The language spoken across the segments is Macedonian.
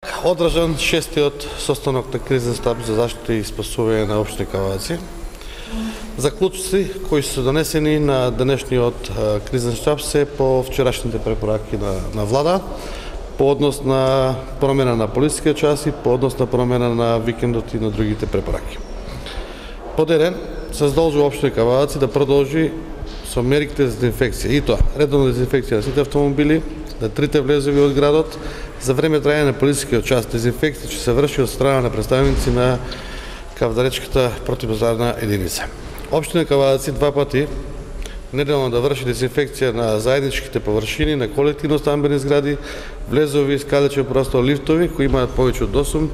Одржан шестиот состанок на кризен штаб за заштита и спасување на општина Каваци. Заклучоци кои се донесени на денешниот кризен штаб се по вчерашните препораки на влада, по однос на промена на полицискиот час и по однос на промена на викендот и на другите препораки. Под еден се задолжува општина Каваци да продолжи со мерките за дезинфекција, и тоа редовна дезинфекција на сите автомобили, на трите влезови од градот, за време трајање на полицискиот час. Дезинфекција ќе се врши од страна на представници на Кавдаречката противпожарна единица. Општина Каваци два пати неделно да врши дезинфекција на заедничките површини, на колективно стамбени згради, влезови, скалечен простор, лифтови кои имаат повеќе од 8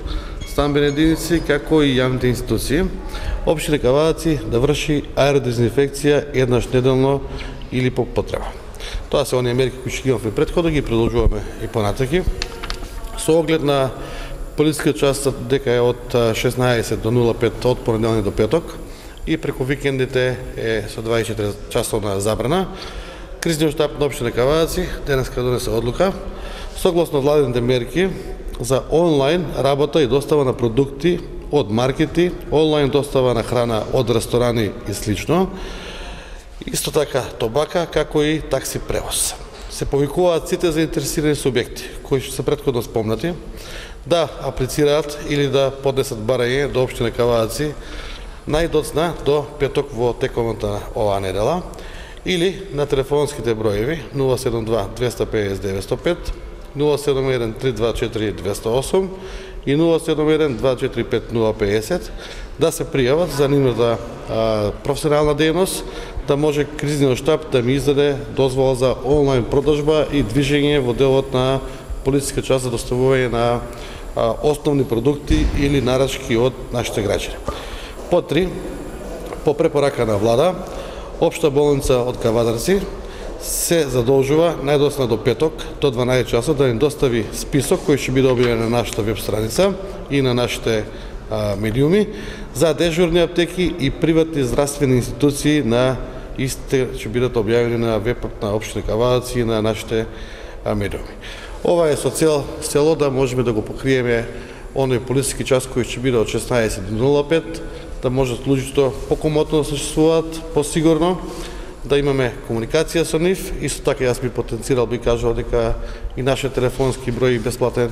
стамбени единици, како и јавните институции. Општина Каваци да врши аеродезинфекција еднаш неделно или по потреба. Тоа се оние мерки кои ќе имавме претходно, ги продолжуваме и понатаки. Со оглед на полицискиот час дека е од 16 до 05 од понеделник до петок и преку викендите е со 24 часовна забрана, кризниот штаб на општина Каваци денеска донесе одлука согласно владините мерки за онлайн работа и достава на продукти од маркети, онлайн достава на храна од ресторани и слично. Исто така тобака, како и такси превоз. Се повикуваат сите заинтересирани субјекти, кои се претходно спомнати, да аплицираат или да поднесат барање до општина Каваци најдоцна до петок во текомот оваа недела, или на телефонските броеви 072 250 905, 071 324 208 и 071 245 050 да се пријават за нивната професионална дејност, да може кризниот штаб да ми издаде дозвола за онлайн продажба и движење во делот на полициска час за доставување на основни продукти или нарачки од нашите граѓани. По 3, по препорака на влада, Општа болница од Кавадарци се задолжува најдоцна до петок до 12 часот да ни достави список кој ќе биде објавен на нашата веб страница и на нашите медиуми за дежурни аптеки и приватни здравствени институции на истите ќе бидат објавени на вебот на општина Каваци и на нашите медиуми. Ова е со цело да можеме да го покриеме оној полициски час кој ќе биде од 16 до 05, да можат луѓето покомотно да съществуваат, посигурно, да имаме комуникација со нив. Исто така јас би потенцирал, би кажал дека и нашиот телефонски број бесплатен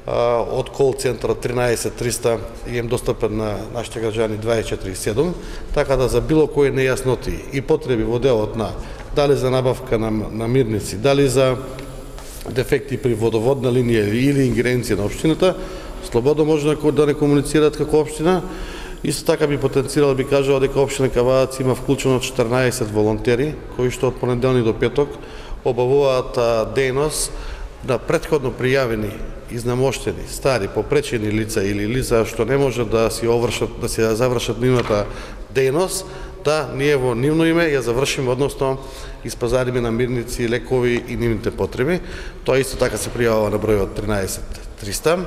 од кол центарот 13 300 им достапен на нашите граѓани 24/7, така да за било кои нејасноти и потреби во делот на дали за набавка на мирници, дали за дефекти при водоводна линија или ингеренција на општината, слободно може да не комуницираат како општина. Исто така би потенцирал, би кажал дека општина Каваци има вклучено 14 волонтери кои што од понеделник до петок обавуваат дејност на претходно пријавени, изнамоштени, стари, попречени лица или лица што не може да си завршат нивната дејност, да ние во нивно име ја завршиме, односно испазариме намирници, лекови и нивните потреби. Тоа исто така се пријавува на бројот 13 300.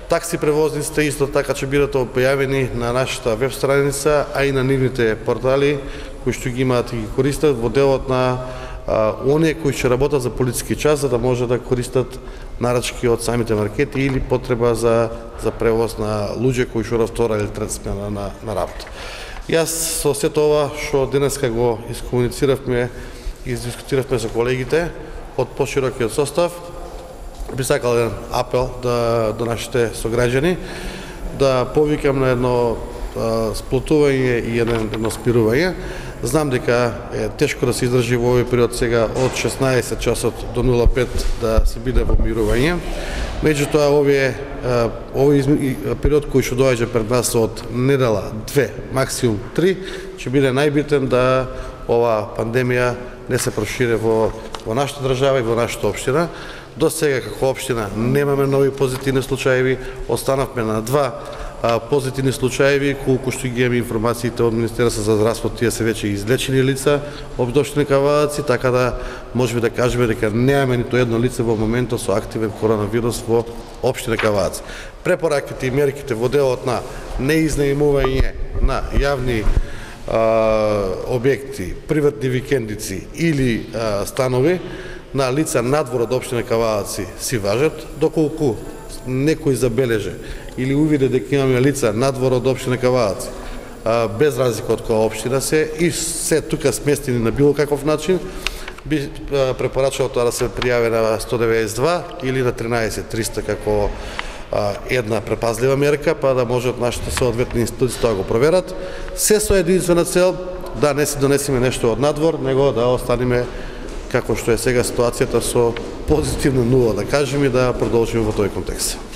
Такси превозниците исто така ќе бидат објавени на нашата веб страница, а и на нивните портали кои што ги имаат и ги користат во делот на оние кои ќе работат за полициски час, за да може да користат нарачки од самите маркети или потреба за превоз на луѓе кои што втора или трета смена на работа. Јас со сето ова што денеска го искомунициравме и дискутиравме со колегите од поширокиот состав, би сакал еден апел до нашите сограѓани да повикам на едно сплотување и едно спирување. Знам дека е тешко да се издржи во овој период сега од 16 часот до 05 да се биде во мирување. Меѓутоа овој период кој што доаѓа пред нас од недела 2, максимум 3, ќе биде најбитен да ова пандемија не се прошири во нашата држава и во нашата општина. До сега како општина немаме нови позитивни случаи, останавме на 2 позитивни случаи, колку што ги имаме информациите од Министерството за здравство, тие се веќе излечени лица од општина Каваци, така да можеме да кажеме дека немаме ниту едно лице во моментот со активен коронавирус во општина Каваци. Препораките и мерките во делот на неизнаемување на јавни објекти, приватни викендици или станови на лица надвор од општина Каваци си важат, доколку некој забележе или увиде дека имаме лица надвор од општина Кавааци, без разлика од која општина се и се тука сместени на било каков начин, би препорачал тоа да се пријави на 192 или на 13300 како една препазлива мерка, па да можат нашите соодветни институции да го проверат. Се со единствена цел да не си донесеме нешто од надвор, него да останеме како што е сега ситуацијата со позитивна нула, да кажеме, и да продолжиме во тој контекст.